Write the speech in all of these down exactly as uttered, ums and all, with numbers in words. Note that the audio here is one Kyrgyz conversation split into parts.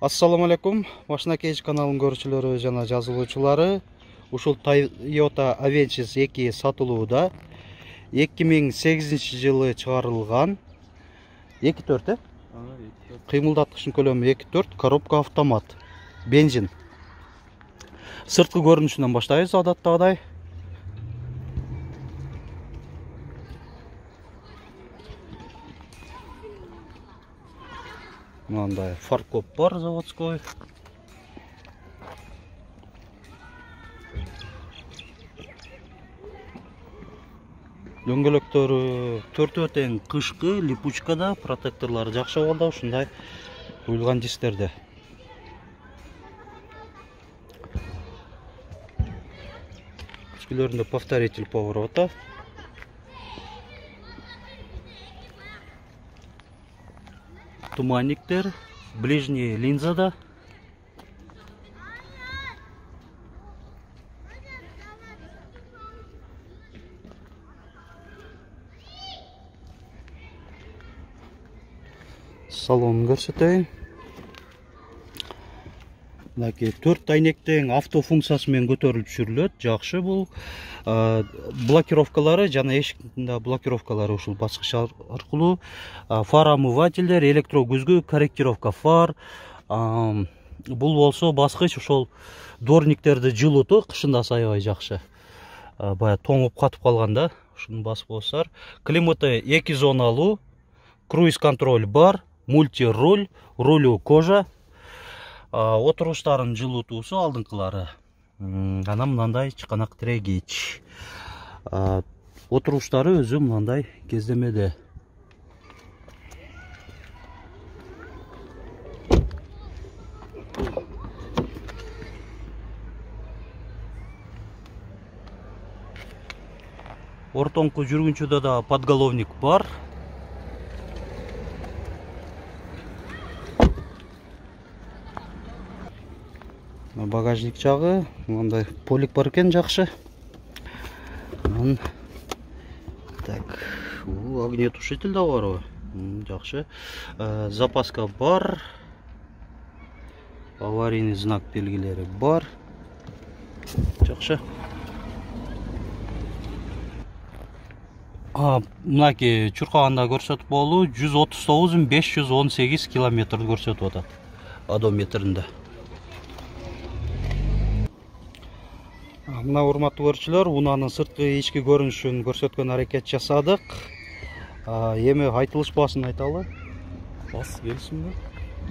Ассаламу алейкум, Машина Кейж каналынын көрүүчүлөрү жана жазылуучулары. Ушул Toyota Avensis эки сатылууда. эки миң сегизинчи жылы чыгарылган. эки төрт э? Кыймылдаткычтын көлөмү эки төрт, коробка автомат, бензин. Сырткы көрүнүшүнөн баштайбыз адаттагыдай. Мындай фаркоп бар, заводской. Дөңгөлөктөрү төртөө тең кышкы, липучкада, протекторлору жакшы абалда, ушундай куюлган дистерде. Күчкүлөрүндө повторитель поворота. Туманниктер, ближний линзада. Салонун көрсөтөйүн. Мынакей төрт айнектең авто функциясы менен көтөрүлүп түшүрүлөт. Жакшы бул. Блокировкалары жана эшиктин блокировкалары ушул баскыч аркылуу. Фар омывательдер, электро күзгү, корректировка фар. Бул болсо баскыч ошол дворниктерди жылытуу кышында сайбай жакшы. Бая тоңуп катып калганда ушуну басып койсоңор. Климаты эки зоналуу, круиз контроль бар, мульти-руль, рулю кожа. Отуруштарын жылытуусу алдыңкылары. Анан мындай чыканак тирегич. Отуруштары өзү мындай кездемеде. Ортоңку жүргүнчүдө да подголовник бар. Багажник жагы, мындай полик бар экен, жакшы. Так, огнетушитель да барбы? Жакшы. Запаска бар. Аварийный знак белгилери бар. Жакшы. Мынакей чуркаганда көрсөтүп болуу жүз отуз тогуз миң беш жүз он сегиз километр көрсөтүп атат. Одометринде. Мына урматтуу көрүүчүлөр, унаанын сырткы ички көрүнүшүн көрсөткөн аракет жасадык. Эми айтылыш баасын айталы. Бас келишимби?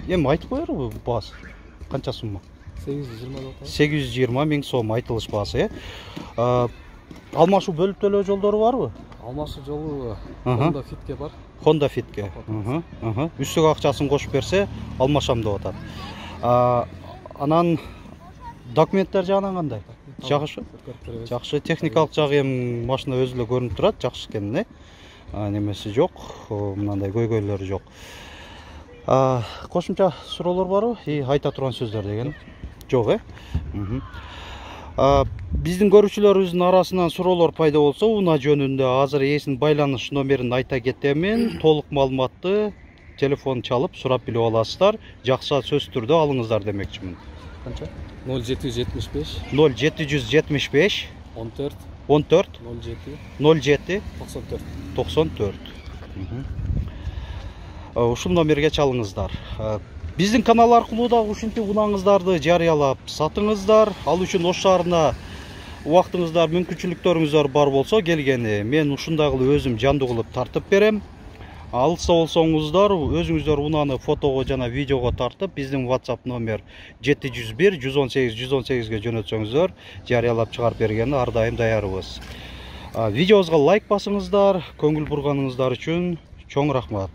Эми айтып коербу баас? Канча сумма? сегиз жүз жыйырма деп атат. сегиз жүз жыйырма миң сом айтылыш баасы, э? Алмашуу бөлүп төлөө жолдору барбы? Алмашуу жолу Honda Fit'ке бар. Honda Fit'ке. Үстүк акчасын кошуп берсе, алмашам деп атат. Анан документтер жагынан кандай? Жакшы. Жакшы, техникалык жагы эми машина өзү эле көрүнүп турат, жакшы экен, э? Немеси жок, мындай көйгөйлөрү жок. Кошумча суроолор барбы? И айта турган сөздөр деген жок, э? Биздин көрүүчүлөрүбүздүн арасынан суроолор пайда болсо, унаа жөнүндө азыр ээсинин байланыш номерин айта кетемин. Толук маалыматты телефон чалып сурап билип аласыздар. Жакшы сөз түрдө алыңыздар демекчимин. Канча? ноль жети жүз жетимиш беш ноль жети жүз жетимиш беш он төрт он төрт ноль жети ноль жети токсон төрт токсон төрт. Ушул номерге чалыңыздар. Биздин канал аркылуу да ушинтип унааңыздарды жарыялап сатыңыздар. Ал үчүн Ош шаарына убактыңыздар, мүмкүнчүлүктөрүңүздөр бар болсо келгени мен ушундай кылып өзүм жандуу кылып тартып берем. Алса болсоңуздар, өзүңүздөр унааны фотого жана видеого тартып, биздин WhatsApp номер жети жүз бир жүз он сегиз жүз он сегизге жөнөтсөңүздөр, жарыялап чыгарып бергенде ар дайым даярбыз. Видеобузга лайк басыңыздар, көңүл бурганыңыздар үчүн чоң рахмат.